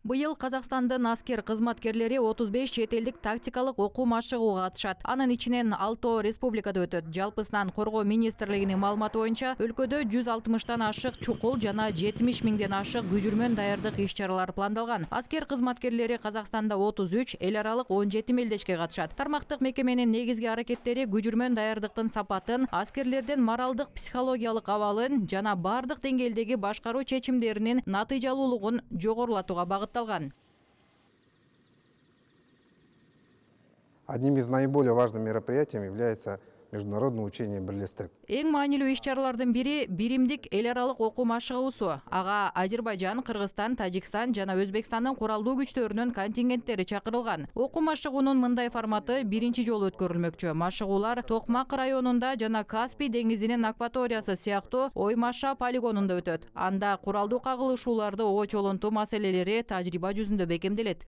Быйыл Казакстандын аскер кызматкерлери 35 чет элдик тактикалык окуу машыгууга катышат. Анын ичинен 6 республикада өтөт. Жалпысынан коргоо министрлигинин маалыматы боюнча өлкөдө 160 ашык чукул жана 70 миңден ашык күжүрмөн даярдык иш-чаралары пландалган. Аскер кызматкерлери Казакстанда 33, эл аралык 17 мелдешке катышат. Тармактык мекеменин негизги аракеттери күжүрмөн даярдыктын сапатын, аскерлердин моралдык психологиялык абалын жана бардык деңгээлдеги башкаруу чечимдеринин натыйжалуулугун жогорулатууга багытталган. Одним из наиболее важных мероприятий является международное учение «Бирлестик». Эң маанилүү иш-чаралардын бири биримдик эл аралык окуу машыгуусу. Ага Азербайжан, Кыргызстан, Тажикстан жана Өзбекстандын куралдуу күчтөрүнүн контингенттери чакырылган. Окуу машыгуунун мындай форматы биринчи жолу өткөрүлмөкчү. Машыгуулар Токмак районунда жана Каспий деңизинин акваториясы сыяктуу Оймаша полигонунда өтөт. Анда куралдуу кагылышууларды очолонтуу маселелери тажрыйба жүзүндө бекемделет.